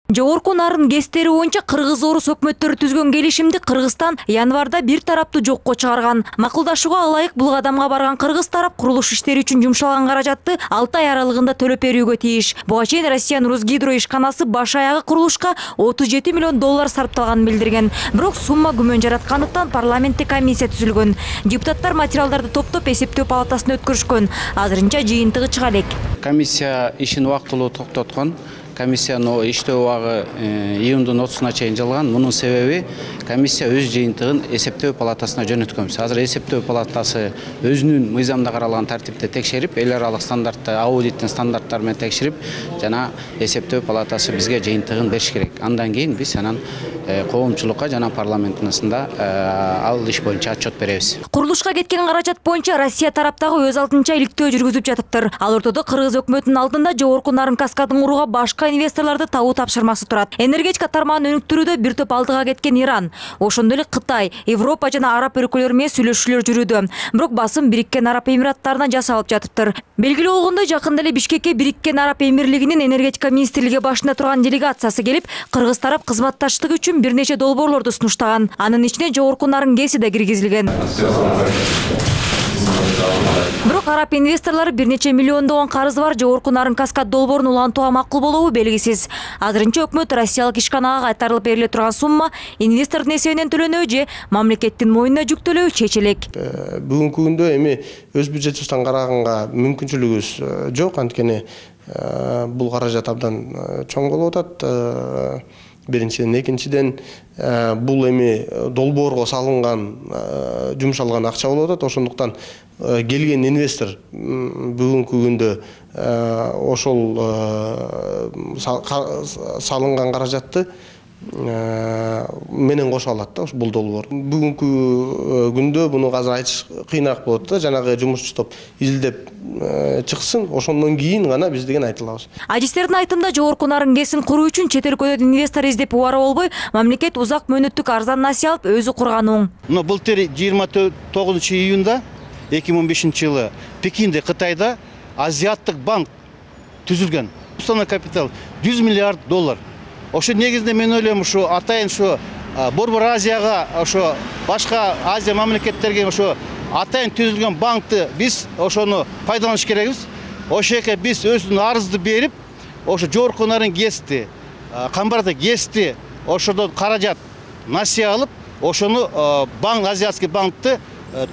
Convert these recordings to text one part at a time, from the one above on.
Жогорку Нарын ГЭСтери боюнча Кыргыз Орус өкмөттөрү түзгөн келишимди Кыргызстан январда бир тараптуу жокко чыгарган. Макулдашууга ылайык бул кадамга барган кыргыз тарап курулуш иштери үчүн жумшалган каражатты 6 ай аралыгында төлөп берүүгө тийиш. Буга чейин Россиянын Русгидро ишканасы баш аягы курулушка 37 миллион доллар сарпталганын билдирген. Бирок сумма күмөн жараткандыктан парламентте комиссия түзүлгөн. Депутаттар материалдарды топтоп эсептөө палатасына өткөрүшкөн. Азырынча жыйынтыгы чыга элек. Комиссия ишин убактылуу токтоткон. Комиссиянын иштөө убагы июндун 30-на чейин жылган. Мунун себеби комиссия өз жыйынтыгын эсептөө палатасына жөнөткөнбүз. Азыр эсептөө палатасы өзүнүн мыйзамда каралган тартипте текшерип, эл аралык стандартты, аудиттин стандарттары менен текшерип, жана эсептөө палатасы бизге жыйынтыгын бериш керек. Андан кийин биз анан коомчулукка жана парламентинасында ал иш боюнча отчет беребиз. Курулушка кеткен каражат боюнча Россия тараптагы өз алдынча иликтөө жүргүзүп жатыптыр. Ал ортодо Кыргыз өкмөтүнүн алдында Жогорку Нарын каскадын курууга башка инвесторлорду табуу тапшырмасы турат. Энергетика тармагын өнүктүрүүдө бир топ алдыга кеткен Иран, ошондой эле Кытай, Европа жана Араб өлкөлөрү менен сүйлөшүүлөр жүрүүдө. Бирок басым Бириккен Араб Эмираттарына жасалып жатыптыр. Белгилүү болгондой, жакында эле Бишкекке Бириккен Араб Эмирлигинин энергетика министрлиги башында турган делегациясы келип, кыргыз тарап кызматташтыгы үчүн бир нече долбоорлорду сунуштаган. Анын ичине Жогорку Нарын ГЭСи да киргизилген. Бирок араб инвесторлору бир нече миллиондогон карызы бар Жогорку Нарын каскад долбоорун улантууга макул болобу белгисиз. Азырынча өкмөт Россиялык ишканага кайтарылып бериле турган сумма инвестордун эсебинен төлөнөбү же мамлекеттин мойнуна жүктөлөбү чечилек. Бүгүнкү күндө эми өз бюджетибизден караганга мүмкүнчүлүгүбүз жок, анткени бул каражат абдан чоң болуп атат. Биринчиден, экинчиден бул эми долбоорго салынган, жумшалган акча болуп атат. Ошондуктан келген инвестор бүгүнкү күндө ошол салынган каражатты менен кошо алат да бул долбоор. Бүгүнкү күндө буну азыр айтыш кыйыныраак болот да, жанагы жумушчу топ изилдеп чыксын, ошондон кийин гана биз деген айта алабыз. Адистердин айтымында Жогорку Нарын ГЭСин куруу үчүн чет өлкөдөн инвестор издеп убара болбой, мамлекет узак мөөнөттүк арзан насыя алып өзү курган оң. Былтыр 29 июнда 2015 жылы Пекинде, Кытайда Азиаттык банк түзүлгөн. Уставный капитал 100 миллиард доллар. Ошо негизинде мен ойлойм, ошо атайын ошо Борбор Азияга, ошо башка Азия мамлекеттерге ошо атайын түзүлгөн банкты биз ошону пайдаланыш керекбиз. Ошоке биз өзүнүн арызды берип, ошо Жогорку Нарын ГЭСти, Камбарда ГЭСти ошодон каражат насыя алып, ошону Азиатский банкты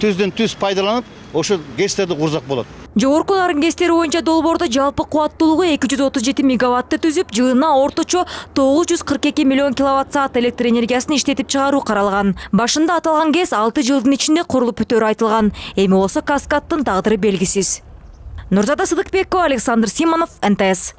түздөн түз пайдаланып, ошо ГЭСтерди курсак болот. Жогорку Нарын ГЭСтери боюнча долбоордо жалпы кубаттуулугу 237 мегаватты түзүп, жылына орточо 942 миллион киловатт-саат электр энергиясын иштетип чыгаруу каралган. Башында аталган ГЭС 6 жылдын ичинде курулуп бүтөөрү айтылган. Эми болсо каскаддын тагдыры белгисиз. Нурзада Сыдыкбекова, Александр Симонов, НТС.